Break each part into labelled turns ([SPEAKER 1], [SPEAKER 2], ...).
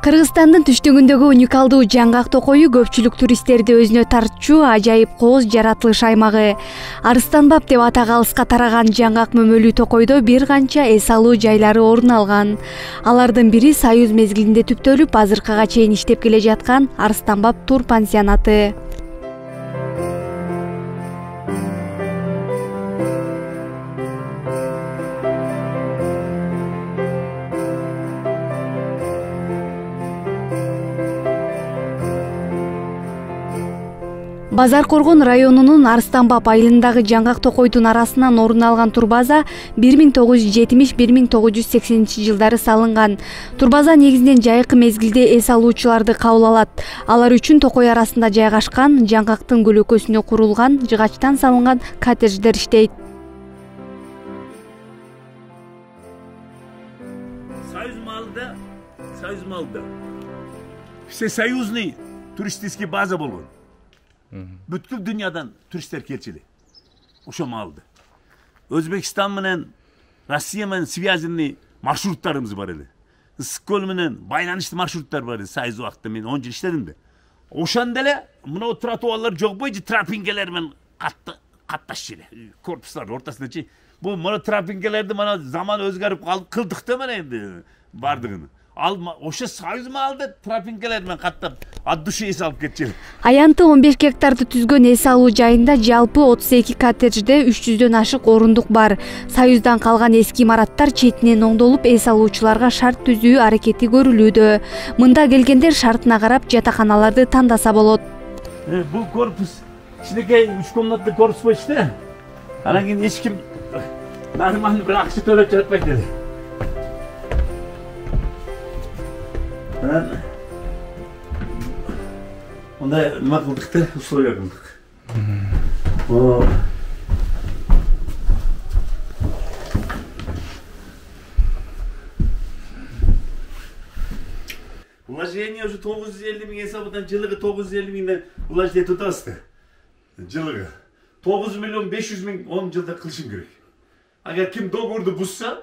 [SPEAKER 1] Кыргызстандын түштүгүндөгү уникалдуу жаңгак токою көпчүлүк туристтерди өзүнө тартчу ажайып кооз жаратылыш аймагы. Арыстанбап деп атак алыска тараган жаңгак мөмөлүү токойдо бир канча эс алуу жайлары орун алган. Алардын бири Союз мезгилинде түптөлүп, азыркыга чейин иштеп келе жаткан Арыстанбап тур пансионаты. Базар Коргон районунун Арыстанбап айылындагы жаңгак токойдун арасынан орун алган турбаза 1970-1980 жылдары салынган. Турбаза негизинен жайкы мезгилде эс алуучуларды кабыл алат. Алар үчүн токой арасында жайгашкан жаңгактын көлөкөсүнө курулган жыгачтан салынган коттедждер иштейт.
[SPEAKER 2] Союз малда всесоюзный туристический база болгон. Бүткүл дүйнөдөн туристтер келчү. Ошо маалда. Өзбекстан менен Россия менен связанный маршруттарыбыз бар эле. Ысык көл менен байланыштуу маршруттар бар эле. Союз убакытта мен 10 жыл иштедим да. Ошондо эле мына тротуарлар жок бойчу тропинкелер менен катташчу эле. Корпустардын ортосундачы. Бул мына тропинкелерди мына заман өзгөрүп кылдык да менен энди бардыгын. Ал ошо Союз маалда тропинкелер менен каттап от души эс алып кетчү.
[SPEAKER 1] Аянты 15 гектарды түзгөн эс алуу жайында жалпы 32 коттеджде 300дөн ашык орундук бар. Союздан калган эски имараттар четинен оңдолуп, эс алуучуларга шарт түзүү аракети көрүлүүдө. Мында келгендер шартына карап жатаканаларды тандаса болот.
[SPEAKER 2] Бул корпус кичинекей 3 комнатный корпус болчу да. Анан кийин эч ким нормальный бир акча төлөп жатпайт эле. Ондай нема кылдык да, условия кылдык. Вложение уже 950 миң эсабынан жылыгы 950 миңден вложение тутабыз да. Жылыгы 9 миллион 500 миң 10 жылда кылышым керек. Агер ким договорду бузса,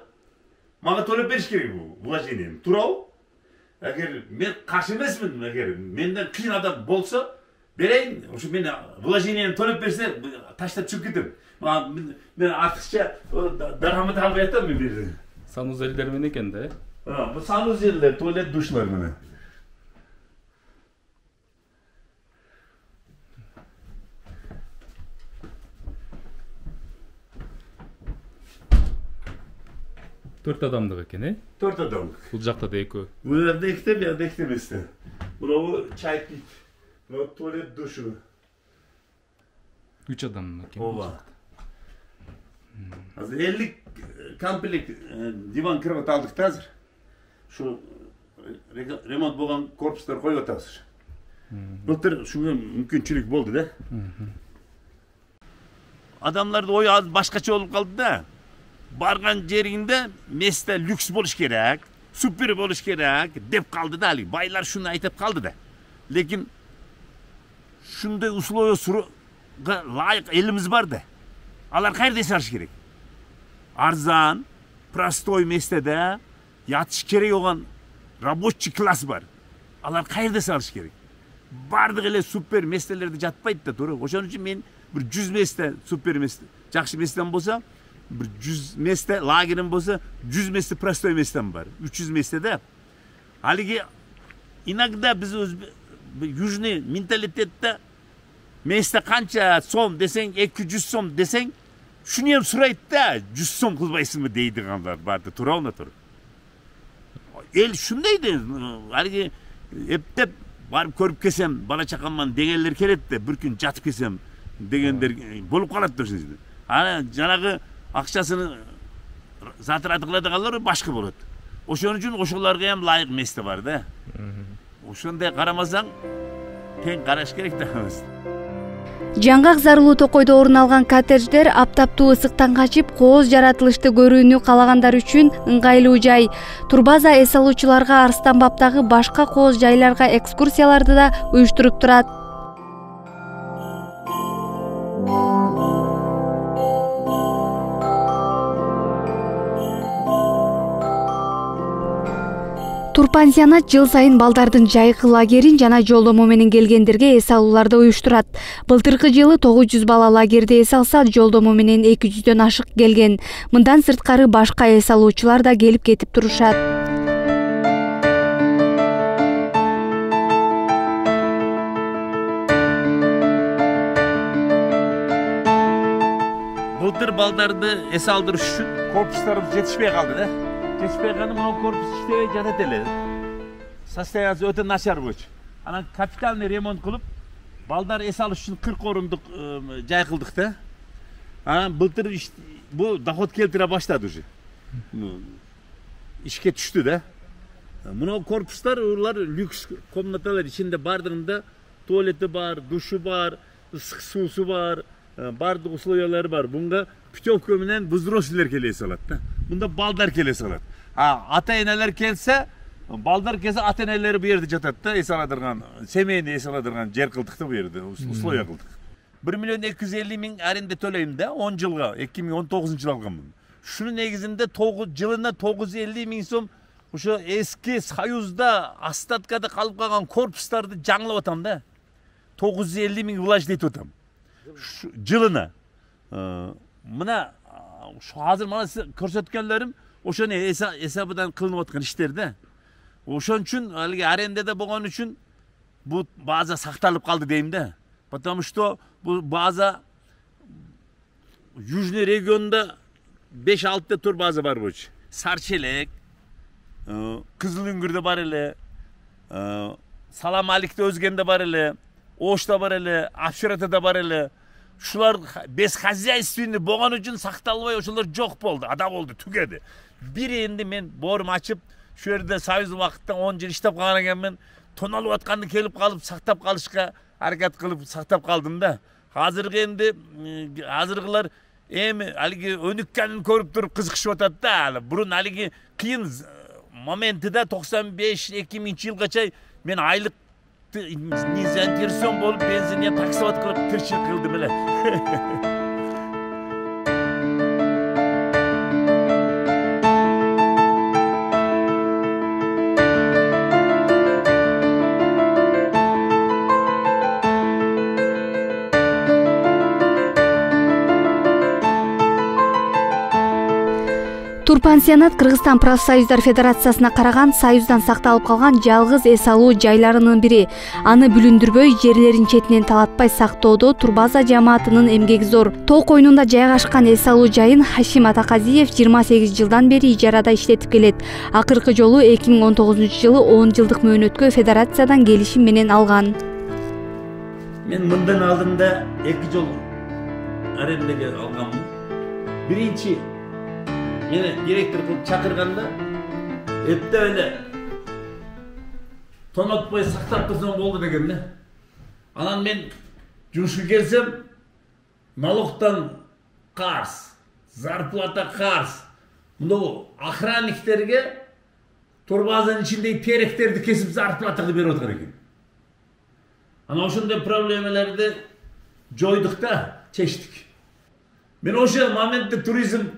[SPEAKER 2] мага төлөп бериш керек бул вложениени. Туурабы? Эгер мен каршы эмесмин, эгер менден кыйын адам болсо, берейин, ошо мен вложениени төлөп берсе, таштап чыгып кетем. Мен артыкча дарамат албай атам мен бир.
[SPEAKER 3] Санузелдер менен экен да?
[SPEAKER 2] Бул санузелдер, туалет, душлар менен.
[SPEAKER 3] Төрт адамдык экен, э?
[SPEAKER 2] 4 адамдык.
[SPEAKER 3] Бул жакта да экөө.
[SPEAKER 2] Бул жерде экте, бул жерде экте эмес да. Бул чай пийип, бул туалет, душу.
[SPEAKER 3] 3 адам экен.
[SPEAKER 2] Ооба. Азыр 50 комплект диван кровать алдык да азыр. Ушу ремонт болгон корпустар коюп атабыз. Былтыр ушуга мүмкүнчүлүк болду да. Адамдардын ою азыр башкача болуп калды да. Барган жеринде месте люкс болуш керек, супер болуш керек деп калды да, байлар шуну айтып калды да. Лекин шундай условияга лайык элибиз бар да. Алар кайерде сарыш керек? Арзан, простой местеде ятыш керек болгон рабочий класс бар. Алар кайерде сарыш керек? Бардык эле супер местелерде жатпайт да, туура. Ошон үчүн мен бир 100 месте супер месте, жакшы местен болсо, bir 100 месте лагерим болса, 100 месте простой местем бар. 300 месте да. Алиги иногда биз южный менталитетте месте канча сом десең, 200 сом десең, шуну эм сурайт да, 100 сом кылбайсыңбы дейдигандар бар да, туурабы, туура. Эл шундай да, алиги эптеп барып көрүп келсем, бала чакаман дегенлер келет да, бир күн жатып келсем дегендер болуп калат да ошол жерде. Ана жанагы акчасын затыраты кыладыгандар башка болот. Ошон үчүн ошолорго эм лайык месте бар да. Ошондой карамасаң, тең караш керек да.
[SPEAKER 1] Жаңгак зарылуу токойдо орун алган коттедждер аптаптуу ысыктан качып, кооз жаратылышты көрүүнү калагандар үчүн ыңгайлуу жай. Турбаза эс алуучуларга Арыстанбаптагы башка кооз жайларга экскурсияларды да уюштуруп турат. Турпансионат жыл сайын балдардын жайкы лагерин жана жолдомо менен келгендерге эс алууларды уюштурат. Былтыркы жылы 900 бала лагерде эс алса, жолдомо менен 200дөн ашык келген. Мындан сырткары башка эс алуучулар да келип кетип турушат.
[SPEAKER 2] Былтыр балдарды эс алдырыш үчүн корпустарыбыз жетишпей калды да. Жетишпей калды, мына корпус иштебей жатат эле. Состояниясы өтө начар болчу. Анан капитальный ремонт кылып, балдар эс алыш үчүн 40 орундук жай кылдык да. Анан былтыр бул доход келтире баштады уже. Ишке түштү да. Мына корпустар улар люкс комнаталар, ичинде бардыгында туалети бар, душу бар, ысык суусу бар, бардык условиялары бар. Bunga путевка менен взрослыйлар келе салат да. Мында балдар келе салат. Ата-энелер келсе, балдар келсе ата-энелери бу жерде жатат да, эс аладырган, семейный эс аладырган жер кылдык да бу жерде, условия кылдык. 1.250.000 аренда төлөйм да, 10 жылга, 2019-жылы алганмын. Шунун негизинде жылына 950.000 сом ошо эски Союзда остаткада калып калган корпустарды жаңылап атам да. 950.000 влаж дейт атам. Жылына. Мына азыр мана көрсөткөнлөрүм ошону эсабыдан кылынып аткан иштер да. Ошон үчүн алги арендада болгон үчүн бул база сакталып калды дейм да. Потому что бул база Южный регионда 5-6 тур база бар болчу. Сарчелек, Кызыл Үңгүрдө бар эле, Салам Аликте Өзгенде бар эле, Ошто бар эле, Апшыратада бар эле. Шулар бесхозяйственный болгон үчүн сакталбай ошолор жок болду, ада болду, түгөдү. Бир энди мен боорум ачып, şu жерде Союз убакытта 10 жыл иштеп калган экенмин. Тоналып атканды келип калып сактап калышка аракет кылып сактап калдым да. Азыркы энди азыркылар эми алиги өнүккөнүн көрүп туруп кызыкышып атат да. Бурун алиги кыйын моментида 95-2000-жылгача мен айлык не заинтересован болуп бензинге таксоват кылып тирчилик кылдым эле.
[SPEAKER 1] Турпансионат Кыргызстан профсоюздар федерациясына караган союздан сакталып калган жалгыз эс алуу жайларынын бири. Аны бүлүндүрбөй, жерлерин четинен талатпай сактоодо Турбаза жамаатынын эмгеги зор. Тоо койнунда жайгашкан эс алуу жайын Хашим Атаказиев 28 жылдан бери ижарада иштетип келет. Акыркы жолу 2019-жылы 10 жылдык мөөнөткө федерациядан келишим менен алган.
[SPEAKER 2] Мен мындан алдында 2 жол арендага алганмын. Биринчи Yine direktör kılıp çakırganda hepte öyle tonatpay saktap kızım oldu degen ne. Anan men жұмышқа келсем налогтан қарыз, зарплата қарыз. Мынау охранниктерге Турбазанын içindeki теректерди кесип зарплатаны берип отыр экен. Ана ошондой проблемаларды жойдук да, чечтик. Мен ошол моментте туризм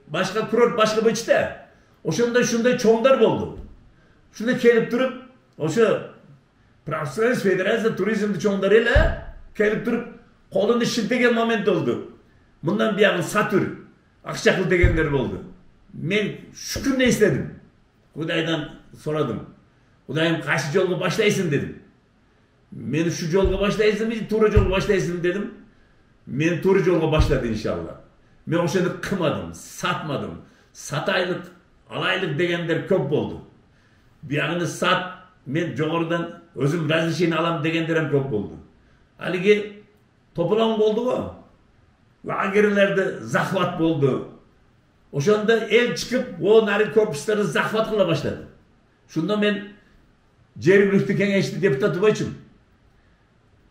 [SPEAKER 2] башка курорт башка бычта. Ошондой чоңдар болду. Шунда келип туруп, ошо профсоюз федерация туризмди чоңдар эле келип туруп колун шилтеген момент болду. Мындан биягын сатыр, акча кыл дегендер болду. Мен шүкүр эстедим. Кудайдан сорадым. Кудайым кайсы жолго баштайсың дедим. Мен ушу жолго баштайсыңбы, туура жолго баштайсыңбы дедим. Мен туура жолго баштады иншалла. Мен ошону кымадым, сатмадым. Сатайлык, алайлык дегендер көп болду. Биягыны сат, мен жогорудан өзүм разрешение алам дегендер көп болду. Алиги тополоң болду го. Лагерлерде захват болду. Ошондо эл чыгып, о нари корпустарды захват кыла баштады. Шунда мен жергиликтүү кеңешти депутаты болчумун.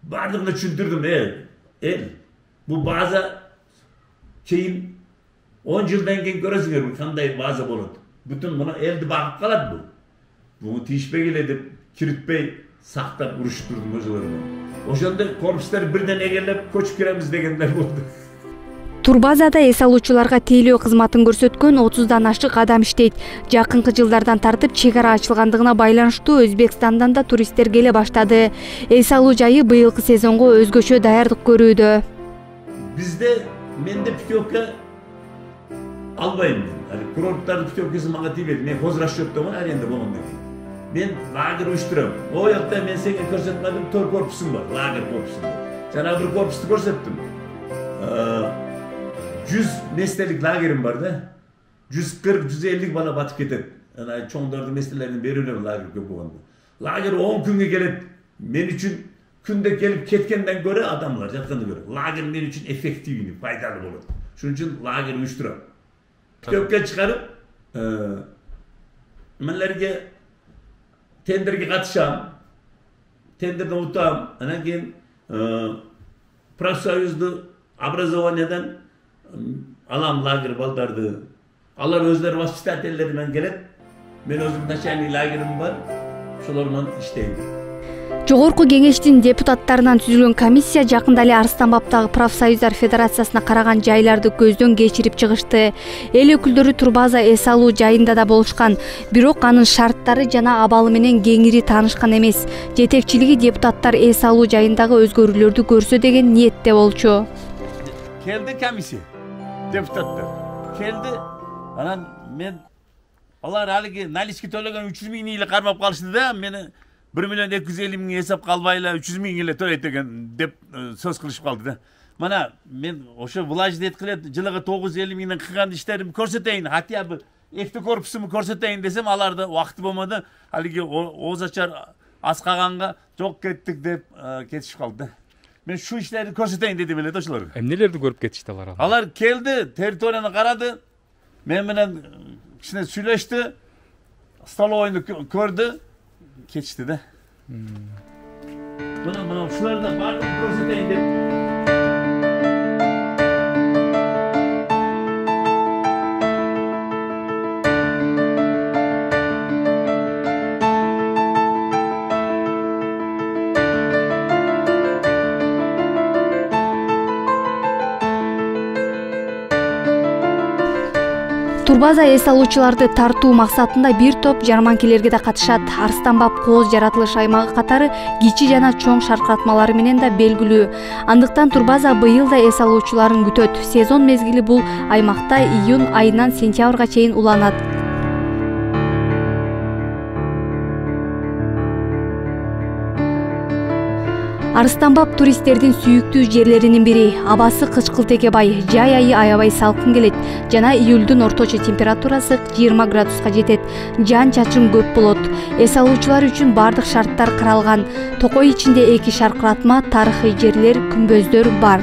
[SPEAKER 2] Бардыгына түшүндүрдүм, эл, бул база кийин 10 жылдан кийин көрөсүңөр кандай база болот. Бүтүн мына элди багып калат бул. Буну тийишпей эле деп киритпей сактап уруштурдум ошолорду. Ошондо корпустар бирден эгерлеп көчүп киремиз дегендер болду.
[SPEAKER 1] Турбазада эс алуучуларга тейлөө кызматын көрсөткөн 30дан ашык адам иштейт. Жакынкы жылдардан тартып чек ара ачылгандыгына байланыштуу Өзбекстандан да туристтер келе баштады. Эс алуу жайы быйылкы сезонго өзгөчө даярдык көрүүдө.
[SPEAKER 2] Бизде менде путевка албайм. Курорттардын путевкасы мага тийбейт. Мен хозрасчёттомун аренда болгондон кийин. Мен лагерь уюштурам. О жакта мен сенге көрсөткөнүм 4 корпусум бар, лагерь корпусу. Жана бир корпусту көрсөттүм. 100 местелик лагерим бар да. 140-150 бала батып кетет. Ана чоңдордун местелерин берип элем лагерь көп болгондо. Лагерь 10 күнгө келет. Мен үчүн күндө келип кеткенден көрө адамдар жаткандан көрө лагерь мен үчүн эффективный, пайдалуу болот. Шуның үчүн лагерь уюштурам. Көпкө чыгарып, менлерге тендерге катышам. Тендерден утам. Анан кийин профсоюзду образованиядан алам лагерь балдарды. Алар өздөрү воспитательдери менен келет. Мен өзүм начальный лагерим бар. Шолор менен иштейм.
[SPEAKER 1] Жогорку кеңештин депутаттарынан түзүлгөн комиссия жакында эле Арыстанбаптагы профсоюздар федерациясына караган жайларды көздөн кечирип чыгышты. Эл өкүлдөрү Турбаза эс алуу жайында да болушкан, бирок анын шарттары жана абалы менен кеңири таанышкан эмес. Жетекчилиги депутаттар эс алуу жайындагы өзгөрүүлөрдү көрсө деген ниетте болчу.
[SPEAKER 2] Келди комиссия, депутаттар. Келди. Анан мен алар алиги налички төлөгөн 300 000 эле кармап калышты да, мени 1.250.000 эсеп калбай эле 300 000 эле төлөйт деген деп сөз кылышып калды да. Мана мен ошо влаждет кылет, жылыга 950 000 кылган иштеримди көрсөтөйүн, хотя бы экти корпусумду көрсөтөйүн десем, аларда убакыты болмоду. Алиги ооз ачар ас каганга жок кеттик деп кетишип калды да. Мен шу иштерди көрсөтөйүн дедим эле да ошолорго.
[SPEAKER 3] Эмнелерди көрүп кетишти алар?
[SPEAKER 2] Алар келди, территорияны карады, мен менен кичине сүйлөштү, столовойду көрдү, кетишти да. Мына ушуларда баардыгын көрсөтөйүн деп.
[SPEAKER 1] Турбаза эс алуучуларды тартуу максатында бир топ жарманкелерге да катышат. Арыстанбап кооз жаратылыш аймагы катары кичи жана чоң шаркыратмалары менен да белгилүү. Андыктан Турбаза быйыл да эс алуучуларын күтөт. Сезон мезгили бул аймакта июнь айынан сентябрга чейин уланат. Арыстанбап туристтердин сүйүктүү жерлеринин бири. Абасы кычкылтекке бай, жай айы аябай салкын келет жана июлдун орточо температурасы 20 градуска жетет. Жаан-чачын көп болот. Эс алуучулар үчүн бардык шарттар каралган. Токой ичинде 2 шаркыратма, тарыхый жерлер, күмбөздөр бар.